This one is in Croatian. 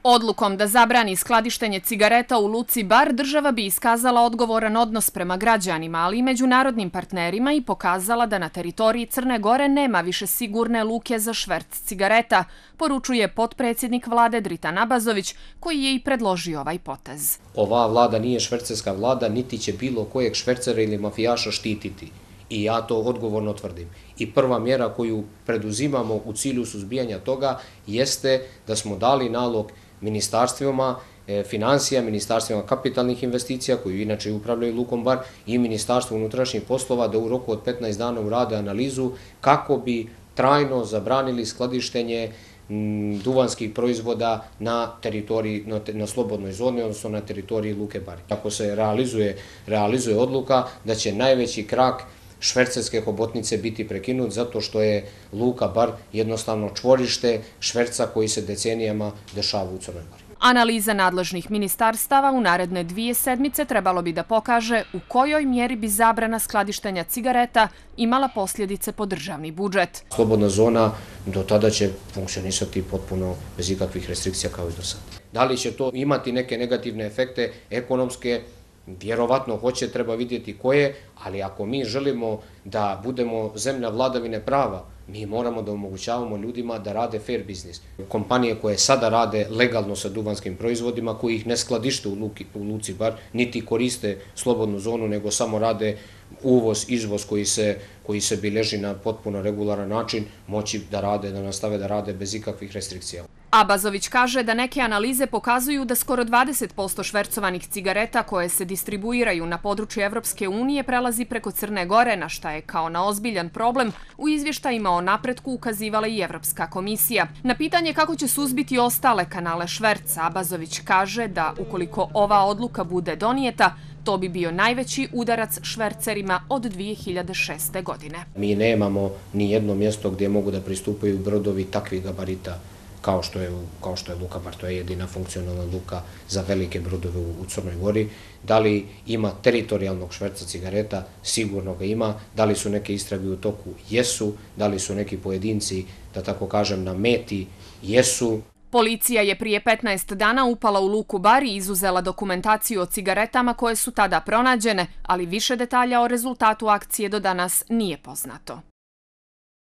Odlukom da zabrani skladištenje cigareta u luci Bar, država bi iskazala odgovoran odnos prema građanima, ali i međunarodnim partnerima i pokazala da na teritoriji Crne Gore nema više sigurne luke za šverc cigareta, poručuje potpredsjednik vlade Dritan Abazović, koji je i predložio ovaj potez. Ova vlada nije švercerska vlada, niti će bilo kojeg švercera ili mafijaša štititi. I ja to odgovorno tvrdim. I prva mjera koju preduzimamo u cilju suzbijanja toga jeste da smo dali nalog ministarstvima financija, ministarstvima kapitalnih investicija, koji inače upravljaju lukom Bar, i Ministarstvo unutrašnjih poslova da u roku od 15 dana urade analizu kako bi trajno zabranili skladištenje duvanskih proizvoda na teritoriji, na slobodnoj zoni, odnosno na teritoriji luke Bar. Ako se realizuje odluka da će najveći krak švercerske hobotnice biti prekinut zato što je luka Bar jednostavno čvorište šverca koji se decenijama dešava u Crnoj Gori. Analiza nadležnih ministarstava u naredne 2 sedmice trebalo bi da pokaže u kojoj mjeri bi zabrana skladištenja cigareta imala posljedice po državni budžet. Slobodna zona do tada će funkcionisati potpuno bez ikakvih restrikcija kao i do sada. Da li će to imati neke negativne efekte ekonomske? Vjerovatno hoće, treba vidjeti koje, ali ako mi želimo da budemo zemlja vladavine prava, mi moramo da omogućavamo ljudima da rade fair biznis. Kompanije koje sada rade legalno sa duvanskim proizvodima, koji ih ne skladište u luci Bar, niti koriste slobodnu zonu, nego samo rade uvoz, izvoz koji se bilježi na potpuno regularan način, moći da rade, da nastave da rade bez ikakvih restrikcija. Abazović kaže da neke analize pokazuju da skoro 20% švercovanih cigareta koje se distribuiraju na području Evropske unije prelazi preko Crne Gore, na šta je kao na ozbiljan problem u izvještajima o napretku ukazivala i Evropska komisija. Na pitanje kako će suzbiti ostale kanale šverca, Abazović kaže da ukoliko ova odluka bude donijeta, to bi bio najveći udarac švercerima od 2006. godine. Mi nemamo ni jedno mjesto gdje mogu da pristupaju brodovi takvih gabarita kao što je luka Bar. To je jedina funkcionalna luka za velike brodove u Crnoj Gori. Da li ima teritorijalnog šverca cigareta? Sigurno ga ima. Da li su neke istrage u toku? Jesu. Da li su neki pojedinci, da tako kažem, na meti? Jesu. Policija je prije 15 dana upala u luku Bar i izuzela dokumentaciju o cigaretama koje su tada pronađene, ali više detalja o rezultatu akcije do danas nije poznato.